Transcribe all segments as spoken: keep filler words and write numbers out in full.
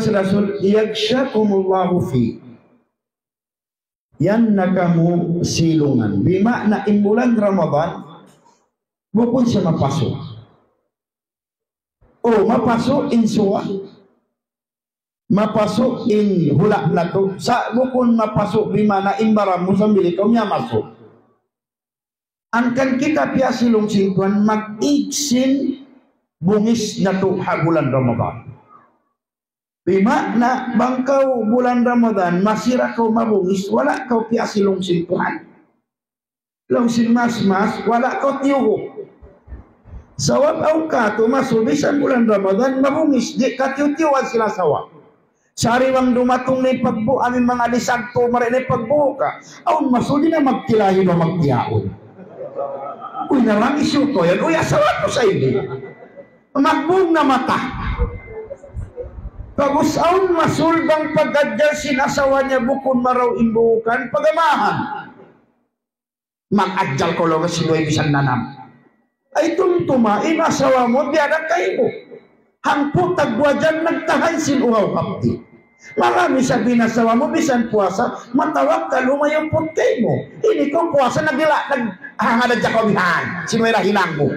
Rasul, "Yaghshakumullahu fi." Yan na kamu silungan. Bima'na in bulan Ramadan, bukun siya mapasu'. O, mapasu' in suwa. Mapasu' in hula' natu'. Sa' bukun mapasu' bima'na in baran mu sambil ikaw miyamasu'. Hangkan kita piyasilung sin Tuhan, mag-ig sin bungis natu' ha bulan Ramadan. Bima'na bang kaw bulan Ramadan, masi ra kaw mabungis, wala' kaw piyasilung sin Tuhan. Laung sin mas-mas, wala' kaw tiyuhu'. Sabab awn katu' masu' bisan bulan Ramadan, mabungis, di' katiyu'-tiyuhan sin asawa. Sari bang dumatung na in pagbu-, amu in manga lisag tu, mari na in pagbuka. Awn masu' di' na magtilahi ba magtiyaun. Uy, narangis yun to yan. Uy, asawa ku sa ini. Magbung na mata. Pag'ubus awn masu' bang pag-adjal sin asawa niya bukun marayaw in buukan, pagamahan. Mag-adjal kaw laung sin way bisan nanam. Ay tumtuma, in asawa mu, biya' da kaymu. Hangpu' tagduwa dyan nagtahan sin uhaw hapdi'. Marami isab in asawa mu, bisan puasa, matawag ka lumayu' put kaymu. Ini kaw puasa, nagdila, naghangad hadja kaw bihan. Sin way da hinang mu.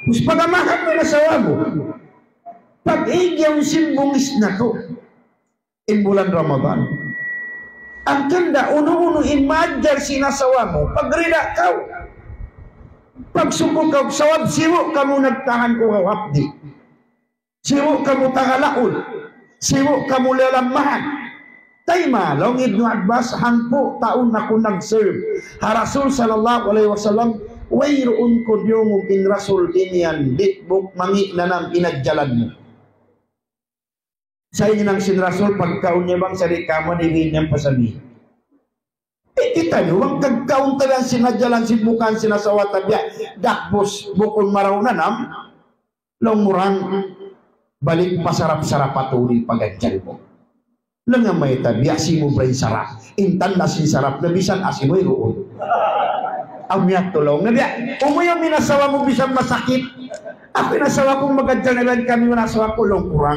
Pag'ubus pagamahan mu in asawa mu. Pag-ig yaun sin bungis natu'. In bulan Ramadan. Hangkan da unu-unu in maadjal sin asawa mu, pagrida kaw. Pagsukul kaw, sabab sibu' kamu nagtahan uhaw hapdi'. Sibu' kamu tagalaul. Sibu' kamu liyalammahan. Tayma, laung Ibnu Abbas, hangpu' taun aku nag-serve ha Rasul sallallahu alayhi wasallam, wayruun ku diyungug in Rasul imiyan, di' buk mangi' nanam in adjalan mu. Sa' in hinang sin Rasul, pagkaun niya bang sari' kamu, di' niya pasabi. Eh, kitaniyu, bang kagkaun ta yan sin adjalan sin bukan sin asawa ta biya', dakbus, bukun marayaw nanam, laung mu ra, balik pa sarap-sarap atu in pag-adjal mu. Laung niya mayta', biya' simubra in sarap. In tanda' sin sarap na bisan asin wayruun. Amu yadtu laung niya, biya', umuyum in asawa mu bisan masakit. Aku in asawa ku mag-adjal na iban kami, wala' asawa ku laung ku ra.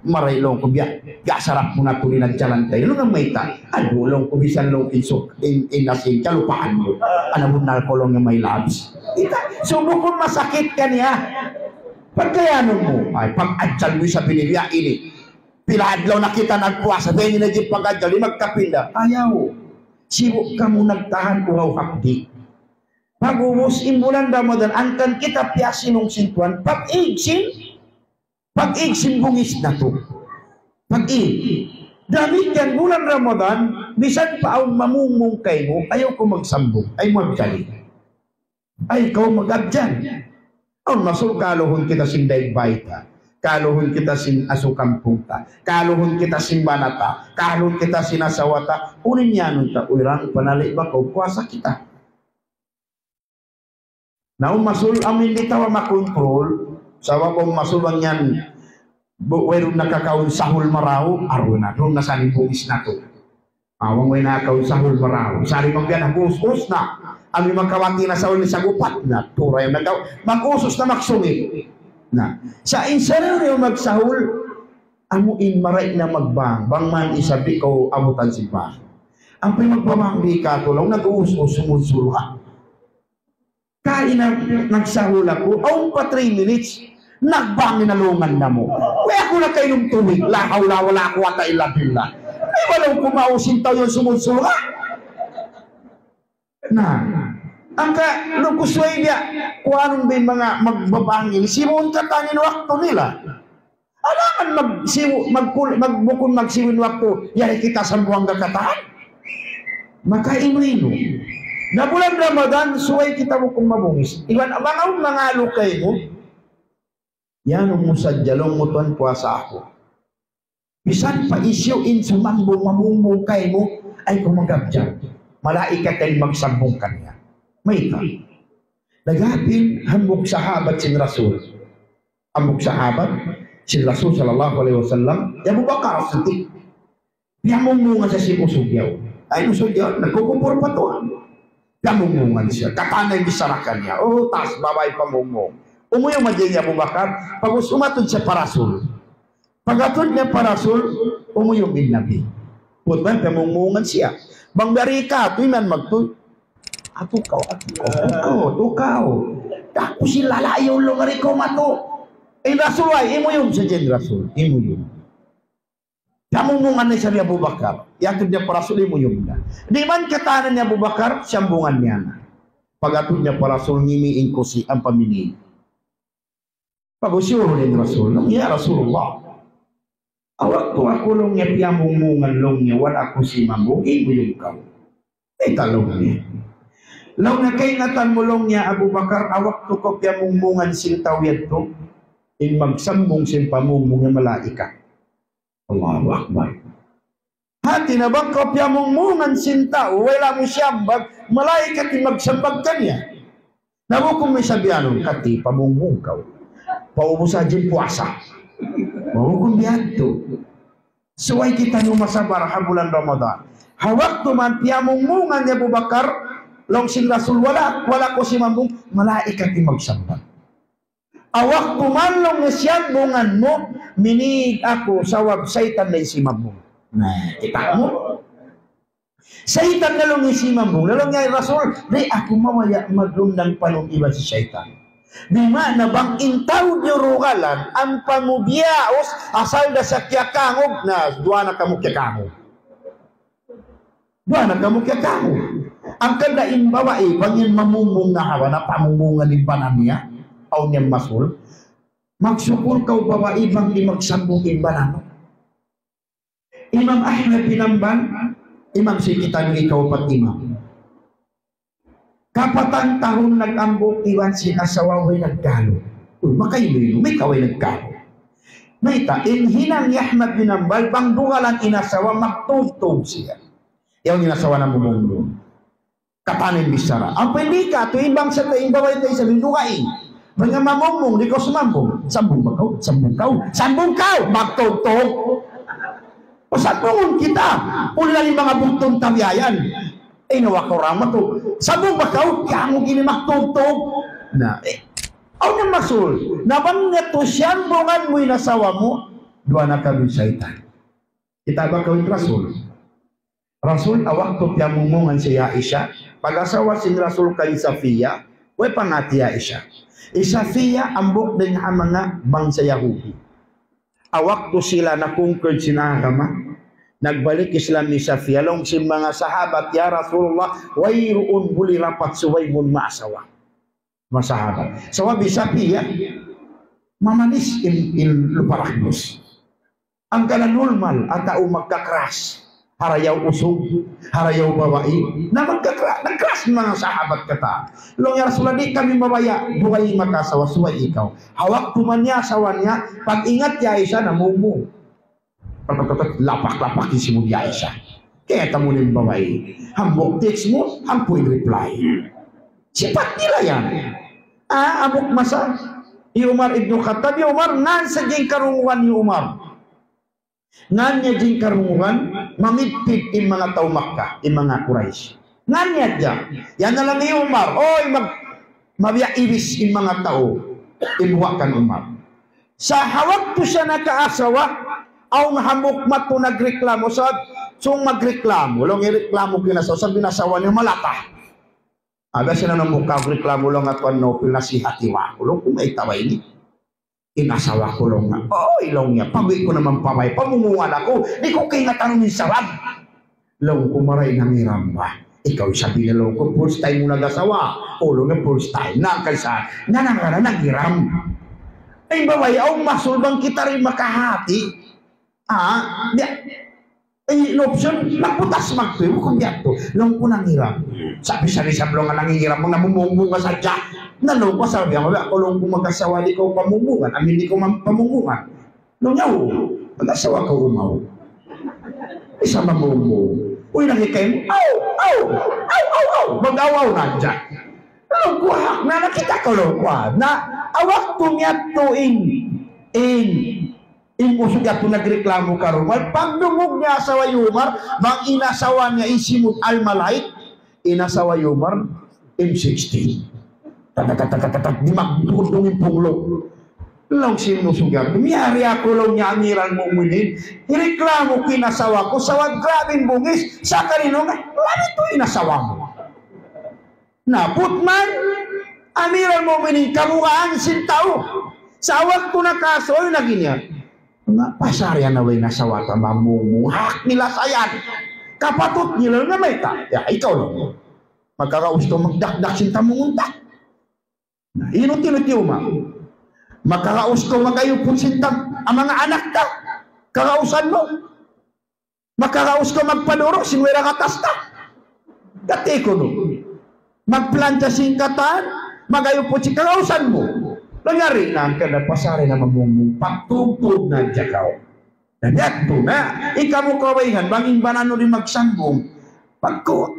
Marayaw laung ku biya', biya' sarap mu na tuud in adjalan ta. Laung niya mayta', aduh laung ku bisan laung in suk-, in, in asin, kalupahan mu. Ana bunnal kaw laung niya my loves. Kita, subukun masakit kaniya. Pagkayanun mu, ay, pag-adjal mu isab ini, biya' ini. Pila adlaw na kita nagpuasa, dayng na in pag-adjal, di' magkapinda. Ayaw. Sibu' kamu nagtahan uhaw hapdi'. Pag'ubus in bulan Ramadan, hangkan kita piyasilung sin Tuhan, pag-ig sin, pag-ig sin bungis natu'. Pag-ig. Damikkiyan bulan Ramadan, misan pa awn mamungmung kaymu, ayaw kaw magsambung, ayaw magkali. Ay, kaw mag-abjad. Awn masul kaluhun kita sin daig bay ta. Kaluhun kita sin asu kampung ta. Kaluhun kita sin bana ta. Kaluhun kita sin asawa ta. Unu in iyanun ta, uy ra, panali' ba kaw puasa kita. Na awn masul amu in di' ta makontrol. Sabab awn masul bang yan, bu-, wayruun nakakaun sahul marayaw, aru na, duun na sa in bungis natu'. Awn way nakakaun sahul marayaw. Sari bang yan, nag-us-us na. Amu in makawati na sahul ni sagupat na. Turay na daw. Mag-us-us na magsungit. Na. Sa' in sari niyu magsahul, amu in marayaw na magbang. Bang man isab di' kaw abutan sin bang. Amu in magbabang di' katulaw, nag-us-us, sumud-sulu'. Kaina, nagsahul aku, awn pa three minutes, nagbang in alungan namu'. Way aku nakainum tubig, la hawla wala quwwata illa billah. Ay, wala' ku maus in tau yan sumud-sulu'. Na, hangkan, laung ku subay biya', kuanun ba in manga magbabang ini, sibu' in katan in waktu nila. Alangan magsibu-, magkul-, mag-, bukun magsibu' in waktu, yari kita sambuang kakatan. Makainu-inu. Na bulan Ramadan, subay kita bukun mabungis. Iban abang awn mangalu kaymu. Yan, umusad jalong mu tuwan puasa aku. Bisan pa hisiyu in sumambung mamungmung kaymu, ay kaw mag-abjad. Malaikat yan magsambung kaniya. Mayta'? Nag-apin hambuuk sahabat sin Rasul. Hambuuk sahabat sin Rasul sallallahu alayhi wasallam, hi Abu Bakar As-Siddiq. Piyamungmungan sa sin usug yaun. Ay, usug yaun, nagkukumpul pa tuwan. Piyamungmungan siya. Katan na in bichara kaniya. O, taas baba' in pamungmung. Umuyum hadja hi Abu Bakar, pag'ubus umatud siya pa Rasul. Pag-atud niya pa Rasul, umuyum in Nabi. Putman, piyamungmungan siya. Bang dari ka, tuy man magtuy. Atu kaw, atu kaw, atu kaw, atu kaw. Aku si lalayo lo ngari ko matu. In Rasul, ay, imuyum sa jen Rasul, imuyum. Piyamungmungan na isab hi Abu Bakar. Yatud niya pa Rasul, imuyum na. Di' man katanan ni Abu Bakar, siyambungan niya na. Pag-atud niya pa Rasul, ngimi' in kusi, ampa mini. Pag-usiyu in Rasul, laung niya, "Ya Rasulullah, awak tu aku laung niya piyamungmungan laung niya, wala' aku simambung, imuyum kaw." Ita laung niya. Laung niya, "Kaingatan mu laung niya Abu Bakar, awak tu kaw piyamungmungan sin tau yadtu, in magsambung sin pamungmung niya malaikat." Allahu Akbar. Hati na bang kaw piyamungmungan sin tau, wala' mu siyambag, malaikat in magsambag kaniya. Na bukun mu sabihanun, kati pamungmung kaw. Paubus hadja in puasa. Bukun biya' yadtu. Subay kitaniyu masabar ha bulan Ramadan. Ha waktu man piyamungmungan hi Abu Bakar, laung sin Rasul, wala', wala' aku simambung, malaikat in magsambag. Awak ku man laung niya siyambungan mu, minīg aku sabab saytan na in simambung. Na, kita' mu? Saytan na laung in simambung. Laung niya, "Rasul, di' aku mabaya' maglundang panun iban sin saytan." Bima'na bang in tau diyurugalan, ampa mu biyaus, asal da sa kiyakangug, na, duwa na kamu kiyakangug. Duwa na kamu kiyakangug. Hangkan da in babai, bang in mamungmung na hawa na pamungmungan in bana niya, awn niya masul. Magsukul kaw babai, bang di' magsambung in bana mu. Imam Ahmad bin Hanbal, imam sin kitaniyu hikaupat imam. Kapatan tahun nag-ambuk iban sin asawa way nagkalu. Uy, makailu-ilu, mayta' way nagkalu. Mayta', in hinang hi Ahmad bin Hanbal, bang dugalan in asawa, magtubtub siya. Yaun in asawa namumungmung. Katan in bichara. Ampa in di' katu', in bangsa ta, in babai ta isab in dugaing. Bang mamungmung, di' kaw sumambung. Sambung ba kaw? Sambung kaw? Sambung kaw! Magtugtug. O sambungun kita. Uli na in manga bugtung tabiayan. Eh, nawa kaw ramat tu. Sambung ba kaw? Kamu gini magtugtug. Na, eh. Awn na masul. Na bang niya tu siyambungan mu in asawa mu, duwa na kamu saytan. Kita' ba kaw in Rasul? Rasul, awak tu piyamungmungan sin Aisha, pag-asawa sin Rasul kan Safiya, way pangati Aisha. Hi Safiya, hambuuk dayn ha manga bangsa Yahudi. Awak tu sila na-conquer sin agama, nagbalik Islam hi Safiya, laung sin manga sahabat, "Ya Rasulullah, wayruun buli rapat subay mu maasawa." Manga sahabat. Sabab hi Safiya, mamanis in, in lupa ragnus. Hangkan normal, atawa magka-crush. Harayaw usug, harayaw babai. Na magka-crush, nag-crush manga sahabat katan. Laung, "Ya Rasulullah, di' kami mabaya', dugaing makaasawa, subay ikaw." Ha waktu man niya asawa niya, pag-ingat hi Aisha, namungmung. Lapak-lapak in simud hi Aisha. Kaya tamu in babai. Hambuuk text mu, hangpu' in reply. Sipat nila yan. Ah, hambuuk masa, hi Umar ibn Khattab, hi Umar, ngan sa' in karungugan hi Umar. Ngan niya in karungugan, mamidpid in manga tau Makkah, in manga Quraysh. Ngan niya hadja. Yan na laung hi Umar, oy, mag-, mabiya' iwis in manga tau, in buwa' kan Umar. Sa' ha waktu siya nakaasawa, awn hambuuk matu nagreklamo, sa' sung magreklamo, laung reklamo kinasawa, sa' binasawa niya malata. Ada siya na hambuuk reklamo laung, "Atuan Naufil, nasihati wa aku," laung, "kung mayta' ba ini. In asawa ku," laung niya. "Oy," laung niya, "pag-uwi' ku naman pa bay, pamungmungan aku, di' ku kaingatan in sabab." Laung ku, "Maray nangiram ba? Ikaw isab," laung ku, "first time mu nag-asawa." "O," laung niya, "first time." Na, kaysa, na, na, na, nangiram. Ay, babai, awn masul bang kita di' makahati. Ah, biya'. Ay, in option, magputas magtuy, bukun biya' tu. Laung ku nangiram. Sa' bisan isab laung nangiram, namumungmung ka sadja. Na laung ku, sabi, "Aku laung ku mag-asawa, di' kaw pamungmungan, amin di' kaw mam-, pamungmungan." Laung niya, "Oo, mag-asawa kaw umaw. Di' sa mamungmung." Uy, nakikay mu, "Aw, aw, aw, aw, aw." Mag-aw-aw na hadja. Laung ku, "Ha, na nakita' kaw," laung ku, ha. Na, awak tu niya tu in, in, in usug yadtu nagreklamo karungugan. Pagdungug niya asawa hi Umar, bang in asawa niya in simud Al-Malaik, in asawa hi Umar, M sixteen. Tat, tat, tat, di' magdudung in punglo'. Laung sin Musug Yadtu, miyari aku laung niya Amiral Mu'minin, hireklamo ku in asawa ku, sabab grabi in bungis, sa' karino nga, labi tu in asawa mu. Na, putman, Amiral Mu'minin, kabugaan sin tau. Sa' waktu nakasuy na giniya. Nga, pasarian na way na sawata mamungmung. Hak nila sayan. Kapatut nila nga mayta'. Ya, ikaw laung. Magkakaus kaw magdakdak sin tamungun ta. Na, inut-inut yung ma. Magkakaus kaw magayupun sin tam-, ang mga anak ta. Kakausan mu. Makaraus kaw magpaduru' sin way ra gatas ta. Kati' kunu'. Magplancha sin katan, magayupun sin karausan mu. Nangari na hangkan na pasari na mamungmung, pagtugtug na hadja kaw. Na yadtu na, ikamu kawayhan, bang in baran mu di' magsambung. Pagku-,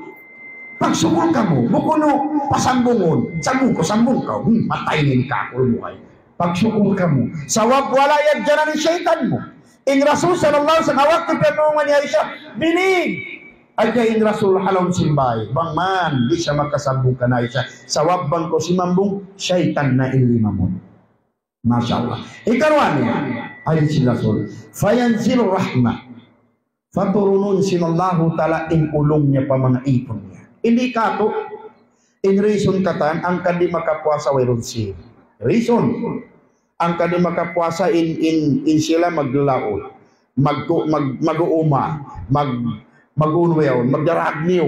pagsukul kamu, bukun mu pasambungun, sambung kaw, sambung kaw, hmm, matay in kakul mu ay. Pagsukul kamu. Sabab wala' yadjanan in saytan mu. In Rasul sallallahu alayhi wasallam, waktu piyanungan ni Aisha, binig. Hadja in Rasul ha lawm sin bay. Bang man, di' siya makasambung kan Aisha. Sabab bang kaw simambung, saytan na in limamun. Masha Allah. Ikaruwa niya, hadis sin Rasul. Fayanzilu rahmah. Paturunun sin Allahu Ta'ala in ulung niya pa manga īpun niya. Hindi katu', in reason katan, hangkan di' makapuasa wayruun sin. Reason. Hangkan di' makapuasa in, in, in sila maglalaud. Mag-, mag-, mag-uuma. Mag-, mag-unwiyaw. Magdaragniw.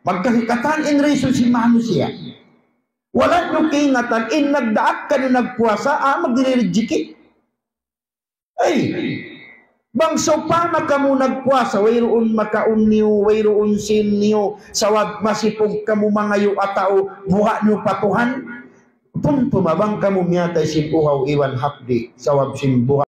Magkahikatan in reason sin manusiya'. Wala' niyu kaingatan, in nagdaak kaniyu nagpuasa, ah, magdirijiki. Ay, bang sawpama kamu nagpuasa, wayruun makaun niyu, wayruun sin niyu, sabab masipug kamu mangayu' atawa buga' niyu pa Tuhan. Tumtuma bang kamu miyatay sin uhaw iban hapdi', sabab sin buga'